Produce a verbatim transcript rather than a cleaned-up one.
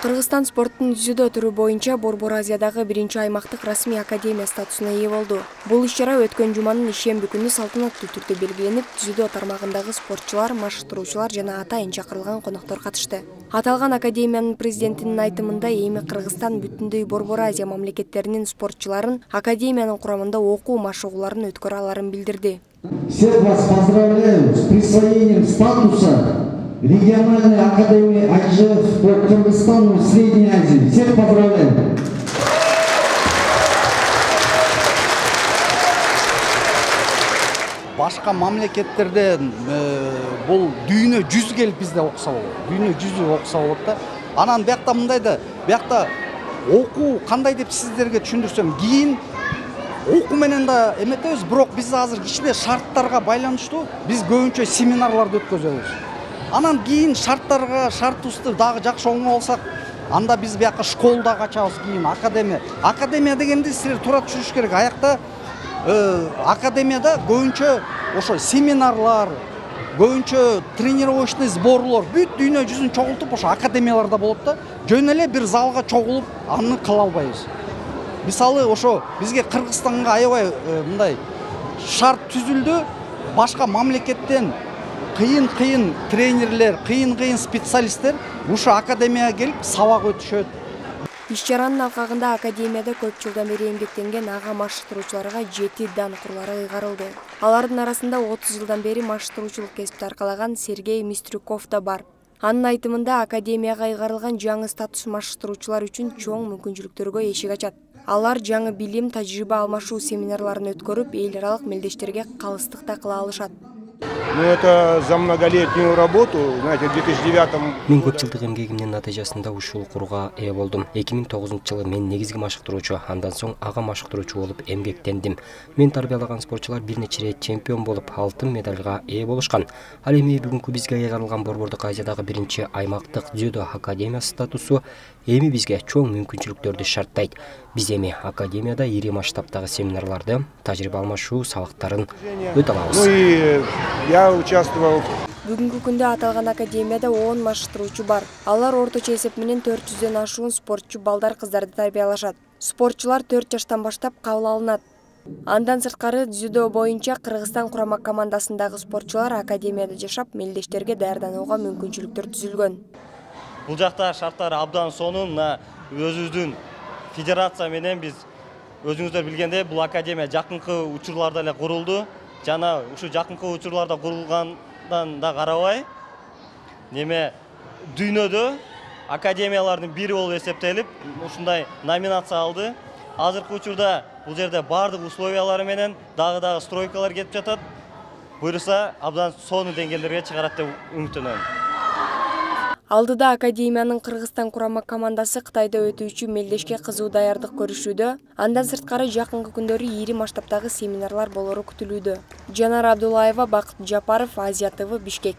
Кыргызстан спорттун дзюдо түрү боюнча Борбор Азиядагы биринчи аймактык расмий академия статусуна ээ болду. Бул иш-чара өткөн жуманын ишемби күнү салтанаттуу түрдө белгиленип, дзюдо тармагындагы спортчулар, машыктыруучулар жана атайын чакырылган коноктор катышты. Аталган академиянын президентинин айтымында эми Кыргызстан бүтүндөй Борбор Азия мамлекеттеринин спортчуларын академиянын курамында окуу машыгууларын өткөрө аларын билдирди. Всех вас поздравляю с присвоением статуса региональной академии ай джи эф по Кыргызстану и Средней Азии. Всех поздравляю! Башка мамлекеттерде бул дүйнө жүз келип бизде окуса болот. Дүйнө жүзү окуса болот да. Анан биякта мындай да, биякта окуу кандай деп сиздерге түшүндүрсөм, кийин окуу менен да эметебиз, бирок биз азыр кичине шарттарга байланыштуу биз көбүнчө семинарларды өткөзөбүз. Анан кийин шарттарга, шартыбызды дагы жакшы оңой алсак, анда биз бияка школу дагы ачабыз, кийин академия. Академия дегенде силер туура түшүнүш керек. Аякта академияда көбүнчө ошо семинарлар, көбүнчө тренировочный сборлор, бүт дүйнө жүзүн чогултуп ошо академияларда болот да. Жөн эле бир залга чогулуп аны кыла албайбыз. Мисалы ошо бизге Кыргызстанга аябай мындай шарт түзүлдү. Башка мамлекеттен кыйын-кыйын тренерлер, кыйын-кыйын специалисттер ушу академияга келип сабак өтүшөт. Иш-чаранын алкагында академияда көп жылдан бери эмгектенген ага машыктыруучуларга жети дан курлары ыйгарылды. Алардын арасында отуз жылдан бери машыктыруучулук кесипти аркалаган Сергей Мистрюков да бар. Анын айтымында академияга ыйгарылган жаңы статус машыктыруучулар үчүн чоң мүмкүнчүлүктөргө эшик ачат. Алар жаңы билим, тажрыйба алмашуу семинарларын өткөрүп, эл аралык мелдештерге калыстыкта кыла алышат. Ну, это за многолетнюю работу, знаете, в две тысячи девятом... Мен көп жылдык эмгегимдин натыйжасында ушул курга ээ болдум. эки миң тогузунчу жылы мен негизги машыктыруучу, андан соң ага машыктыруучу болуп эмгектендим. Мен тарбиялаган спортчулар бир нече ирет чемпион болуп, алтын медалга ээ болушкан. Ал эми бүгүнкү бизге ыйгарылган Борбордук Азиядагы биринчи аймактык дзюдо академиясы статусу эми бизге чоң мүмкүнчүлүктөрдү шарттайт. Биз эми академияда ири масштабтагы семинарларды, тажрыйба алмашуу сабактарын өтө алабыз. Ну и я участвовал. Бүгүнкү күндө аталган академияда он машыктыруучу бар. Алар орточо эсеп менен төрт жүздөн ашуун спортчу балдар кыздарды тарбиялашат. Спортчулар төрт жаштан баштап кабыл алынат. Андан сырткары дзюдо боюнча Кыргызстан курама командасындагы спортчулар академияда жашап, мелдештерге даярданууга мүмкүнчүлүктөр түзүлгөн. Бул жакта шарттар абдан сонун, мына өзүбүздүн федерация менен биз өзүңүздөр билгендей бул академия жакынкы учурларда эле курулду. Жана ушу жакынкы учурларда курулгандан да карабай, неме дүйнөдө академиялардын бири болуп эсептелип, ушундай номинация алды. Азыркы учурда бул жерде бардык условиялары менен дагы-дагы стройкалар кетип жатат. Буйруса абдан сонун деңгээлдерге чыгарат деп үмүттөнөм. Алдыда академиянын Кыргызстан курама командасы Кытайда өтүүчү мелдешке кызуу даярдык көрүшүүдө. Андан сырткары жакынкы күндөрү ири масштабтагы семинарлар болору күтүлүүдө. Жанар Абдуллаева, Бакыт Жапаров, Азия тэ вэ, Бишкек.